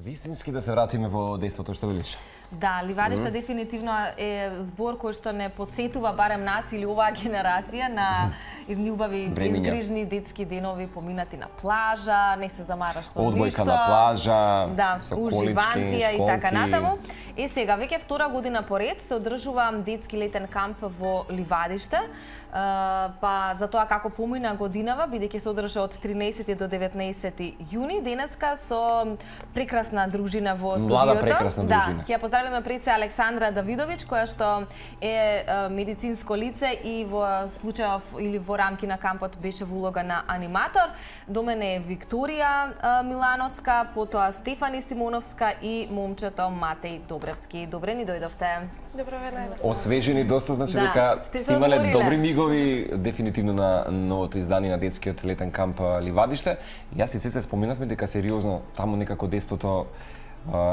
Вистински да се вратиме во дејството, што велиш? Да, Ливадиште дефинитивно е збор кој што не потсетува барем нас или оваа генерација на едни убави безгрижни детски денови поминати на плажа, не се замараш со ништо. Одбојка на плажа, да, со колички, уживанција и така натаму. Сега веќе втора година поред се одржува детски летен камп во Ливадиште. Па за тоа како помина годинава, бидејќи се одржа од 13 до 19 јуни, денеска со прекрасна дружина во студиото. Млада прекрасна дружина. Да, ќе ја поздравиме пред се Александра Давидович, која што е медицинско лице и во случајов или во рамки на кампот беше во улога на аниматор. До мене е Викторија Милановска, потоа Стефани Стимоновска и момчето Матеј Добревски. Добре ни дојдовте. Добро вечер. Освежени доста, значи да, дека сте имале добри мигови дефинитивно на новото издание на детскиот летен камп Ливадиште. Јас и Цеца споменавме дека сериозно таму некако детството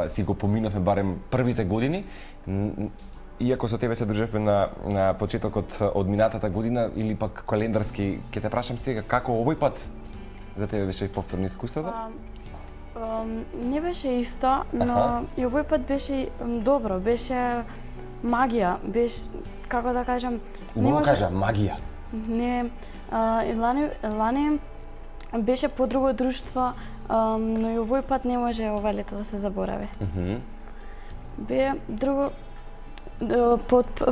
си го поминавме барем првите години. Иако со тебе се дружевме на почетокот од минатата година или пак календарски, ќе те прашам сега како овој пат за тебе беше повторно искуството? Не беше исто, но и овој пат беше добро, беше магија, беше, како да кажам... Убаво кажа, магија. Не, лани беше подруго друштво, но и овој пат не може ова лето да се заборави. Бе друго...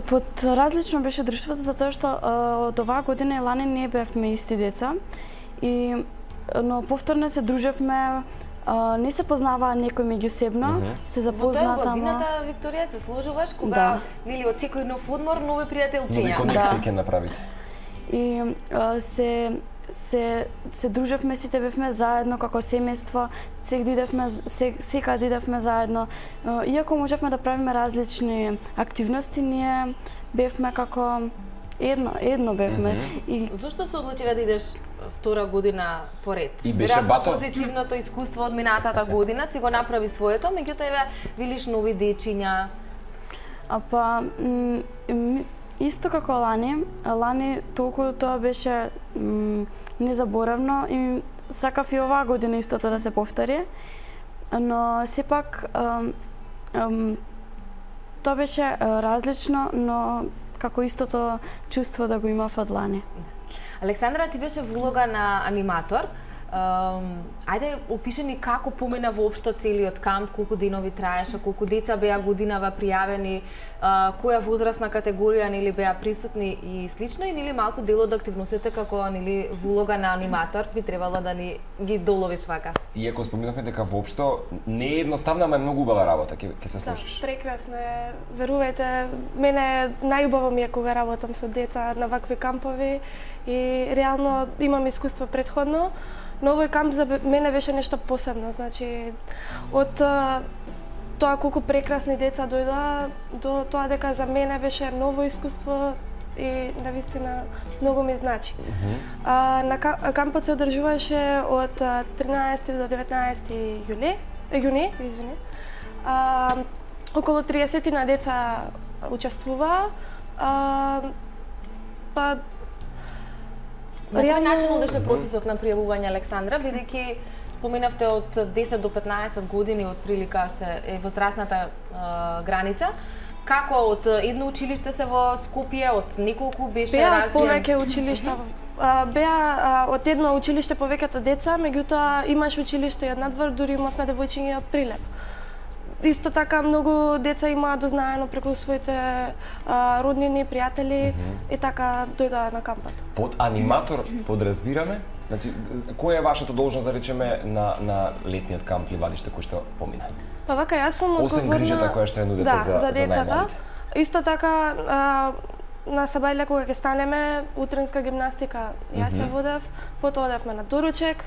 Под различно беше друштвото, затоа што од оваа година и лани не бевме исти деца, но повторно се дружевме. Не се познаваа некој меѓусебно, се запозна тамо. Во тоа убавината, Викторија, се сложуваш кога нели од секој нов одмор нови пријателчиња. Нови конекции ќе направите. И се дружевме, сите бевме заедно како семејство, секаде идевме заедно. Иако можевме да правиме различни активности, ние бевме како едно бевме. Зошто се одлучиве да идеш втора година поред? И беше бато позитивното искуство од минатата година си го направи своето, меѓутоа еве видиш нови дечиња. Исто како лани толку тоа беше незаборавно и сакав и оваа година истото да се повтори, но сепак тоа беше различно, но како истото чувство да го имав од лани. Александра, ти беше во улога на аниматор. Ајде, опиши ни како помина воопшто целиот камп, колку денови траеше, колку деца беа годинава пријавени, која возрастна категорија нели беа присутни и слично, и нели малку дел од активностите како нели во улога на аниматор би требало да ни ги доловиш вака. Иако споминавме дека воопшто не е едноставна, ама е многу убава работа, ќе се слушаш. Да, прекрасно е. Верувајте, мене најубаво ми е кога работам со деца на вакви кампови и реално имам искуство претходно. Но овој камп за мене беше нешто посебно, значи од тоа колку прекрасни деца дојдоа до тоа дека за мене беше ново искуство и навистина многу ми значи. На кампот се одржуваше од 13 до 19 јуни, извини. Околу 30 на деца учествуваа. Па на кој начин одеше процесот на пријавување, Александра, бидејќи споменавте од 10 до 15 години од прилика е возрастната граница. Како од едно училиште се во Скопје, од неколку беше развиен? Беа повеќе училишта. Беа од едно училиште повеќето деца, меѓутоа имаш училиште и од надвор, дури имавме девојчиња од Прилеп. Исто така многу деца имаа дознаено преку своите роднини, пријатели и така дојдоа на кампот. Под аниматор подразбираме, значи која е вашата должност да речеме на летниот камп Ливадиште кој што помина? Па вака јас сум одговорна освен грижата која што ја нудите за децата. Исто така на сабајле кога ќе станеме утринска гимнастика јас ја водев, потоа одевме на доручек.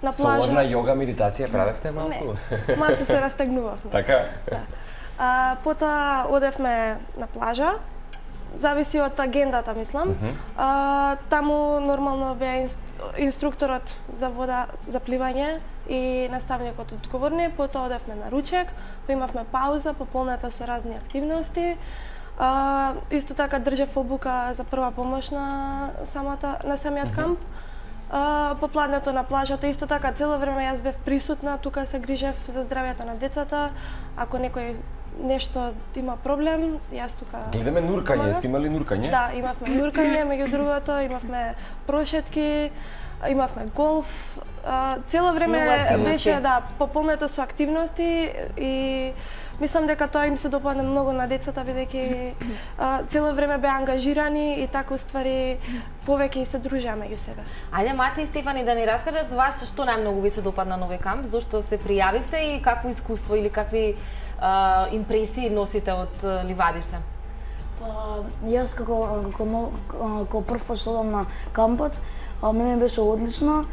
На плажа. Соларна јога, медитација правевте малку? Не, малку се растегнувавме. Така? Да. Потоа одевме на плажа, зависи од агендата, мислам. Таму нормално беа инструкторот за вода, за пливање и наставникот одговорни, потоа одевме на ручек, имавме пауза, пополната со разни активности. Исто така држев обука за прва помош на самиот камп. попладнето на плажата. Исто така, цело време јас бев присутна, тука се грижев за здравјето на децата. Ако некој нешто има проблем, јас тука... Гледаме нуркање, сте имали нуркање? Да, имавме нуркање, меѓу другото, имавме прошетки, имавме голф. Цело време беше пополнето со активности и мислам дека тоа им се допадна многу на децата, бидејќи цело време беа ангажирани и така уствари повеќе и се дружеа меѓу себе. Ајде Мати и Стефани да ни раскажат за вас што најмногу ви се допадна на овој камп, зошто се пријавивте и какво искуство или какви импресии носите од Ливадиште? Јас како прв пат што одам на кампот, мене беше одлично,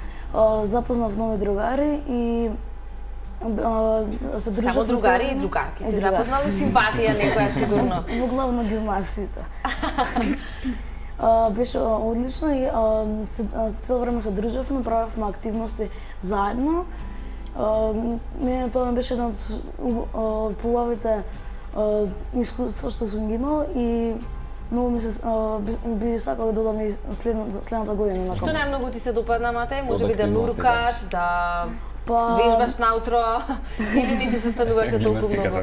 запознав нови другари и се дружев. Само другари и другарки, се запознали симпатија некоја сигурно. Во главно ги знаев сите. Беше одлично и цело време се дружевме, правевме активности заедно. Мене тоа ми беше едно од поубавите искуства што сум ги имал и многу ми се би сакал да додам и следната година на камп. Што најмногу ти се допадна, Матеј? Може би да нуркаш, да вежбаш наутро или не ти се стануваше толку многу?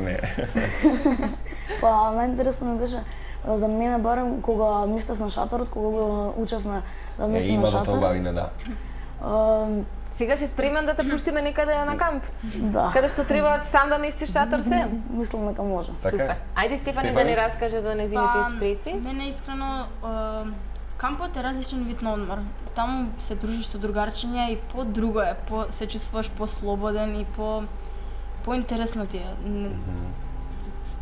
Најинтересно ми беше за мене барем кога мислевме шаторот, кога го учевме да мислиме шатор. Има да тоа да. Сега си спремен да те пуштиме некаде на камп? Да. Каде што треба сам да местиш шатор се? Мислам дека може. Супер. Ајде Стефани да ни раскаже за нејзините импресии. Мене искрено кампот е различен вид на одмор. Таму се дружиш со другарчиња и по-друго е, се чувствуваш по-слободен и по-интересно ти е.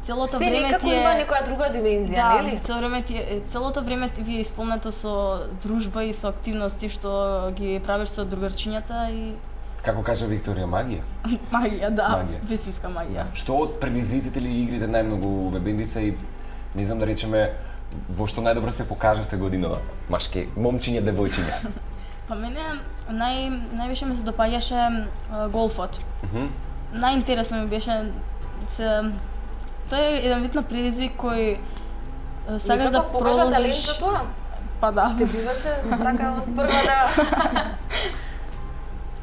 Целото време некако ти е... има некоја друга димензија, нели? Целото време ви е исполнето со дружба и со активности што ги правиш со другарчињата и... Како кажа Викторија, магија? Магија, да, вистинска магија. Што од предизвиците или игрите најмногу ве бендица и не знам да речеме во што најдобро се покажавте годинава? Машки, момчиња, девојчиња. Па мене највише ми се допаѓаше голфот. Најинтересно ми беше тоа е еден вид на предизвик кој сакаш да покажа талент за тоа? Па да. Те биваше така од прва да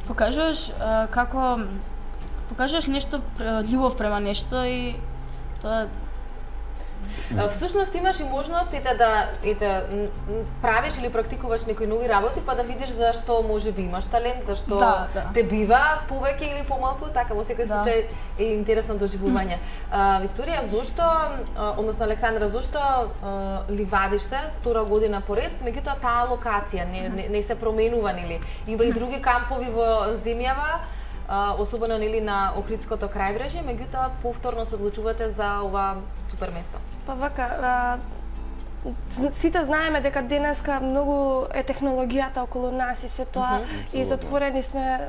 покажуваш покажуваш нешто, љубов према нешто и тоа Всушност имаш и можност и да правиш или практикуваш некои нови работи, па да видиш зашто може би имаш талент, зашто те бива повеќе или помалку, така во секој случај е интересно доживување. Викторија, зошто, односно Александра, зошто Ливадиште втора година поред, меѓутоа таа локација не се променува, нели? Има и други кампови во земјава, особено нели на Охридското крајбрежје, меѓутоа повторно се одлучувате за ова супер место. Па вака, сите знаеме дека денеска многу е технологијата околу нас и се тоа и затворени сме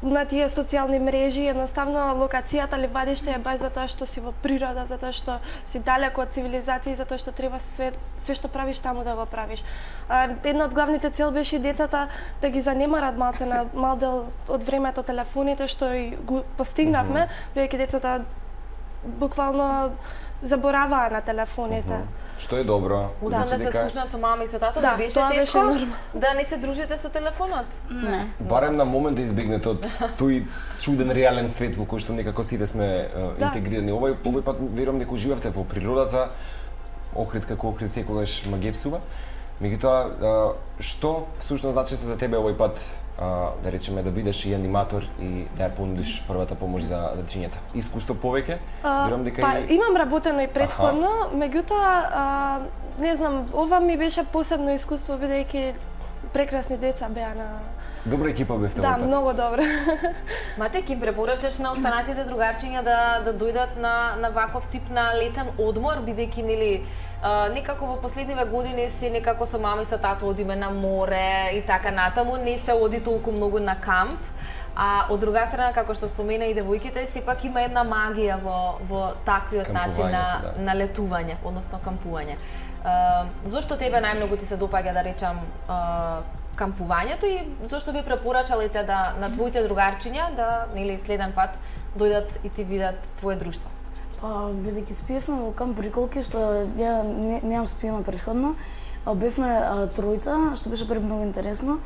на тие социјални мрежи, едноставно локацијата Ливадиште е баш затоа што си во природа, затоа што си далеко од цивилизација, затоа што треба све што правиш таму да го правиш. Една од главните цел беше и децата да ги занемарат малце на мал дел од времето телефоните, што и го постигнавме, бидејќи децата буквално забораваа на телефоните. Што е добро. Освен да се слушнат со мама и со тато, да беше тешко да не се дружите со телефонот? Не. Барем на момент да избегнете од тој чуден реален свет во кој што некако сите сме интегрирани. Овој пат верувам дека уживавте во природата, Охрид како Охрид секогаш ма гепсува. Меѓутоа, што всушност значи се за тебе овој пат, да речеме, да бидеш и аниматор и да ја понудиш првата помош за дечињата? Искуство повеќе? Верувам дека имам работено и претходно, меѓутоа, не знам, ова ми беше посебно искуство бидејќи прекрасни деца беа на... Добра екипа бевте овој пат. Да, многу добра. Мате, ки препорачаш на останатите другарчиња да дојдат на ваков тип на летен одмор, бидејќи нели некако во последниве години си некако со мама и со тато одиме на море и така натаму, не се оди толку многу на камп. А од друга страна, како што спомена и девојките, сепак има една магија во таквиот начин на летување, односно кампување. Зошто тебе најмногу ти се допаѓа, да речам, кампувањето и зошто би препорачалите на твоите другарчиња да нели следен пат дојдат и ти видат твое друштво? Па, бидејќи спиевме во камп Приколки, што ја немам спиено претходно, бевме тројца, што беше пред многу интересно.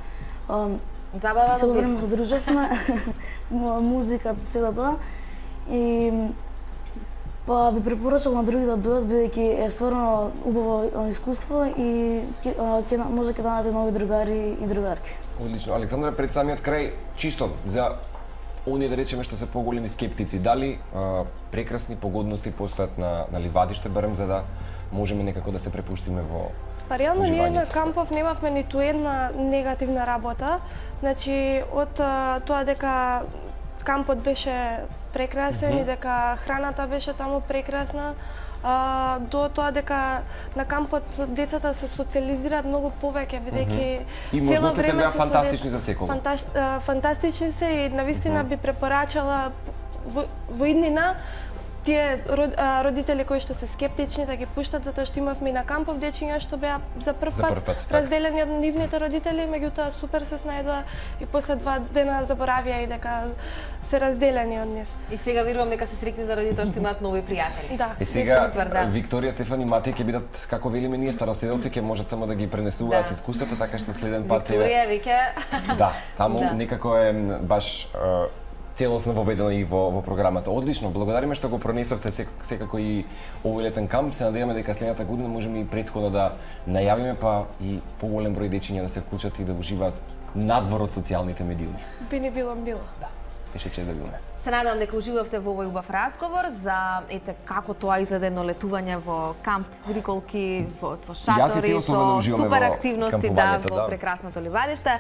Забава Цело време се дружевме, музика, сето тоа. И па би препорачал на другите да дојдат, бидејќи е стварно убаво искуство и може ќе најдете нови другари и другарки. Одлично. Александра, пред самиот крај, чисто за оние да речеме што се поголеми скептици, дали прекрасни погодности постојат на ливадиште, барем за да можеме некако да се препуштиме во Па реално ние на уживањето? кампов немавме ниту една негативна работа. Значи од тоа дека кампот беше прекрасен и дека храната беше таму прекрасна, до тоа дека на кампот децата се социализираат многу повеќе, бидејќи И можностите беа фантастични за секого. Фантастични се и навистина би препорачала во иднина тие родители кои што се скептични да ги пуштат, затоа што имавме и на кампов дечиња што беа за прв пат разделени од нивните родители, меѓутоа супер се снајдоа и после 2 дена заборавија и дека се разделени од нив. И сега верувам дека се стрикни заради тоа што имаат нови пријатели. Да. И сега Супер, да. Викторија, Стефан и Матеј ќе бидат, како велиме ние староседелци, ќе можат само да ги пренесуваат Да. искуството, така што следен пат Викторија веќе Да, таму Да. некако е баш целосно воведено и во програмата. Одлично, благодариме што го пронесовте секако и овој летен камп. Се надеваме дека следната година можеме и претходно да најавиме, па и поголем број дечиња да се вклучат и да уживаат надвор од социјалните медиуми. Би ни било. Да, беше чест да видиме. се надевам дека уживавте во овој убав разговор за како тоа изгледа едно летување во камп Гриколки, со Јас и ти шатори, особено со уживаме супер во активности кампувањето, во да. прекрасното ливадиште.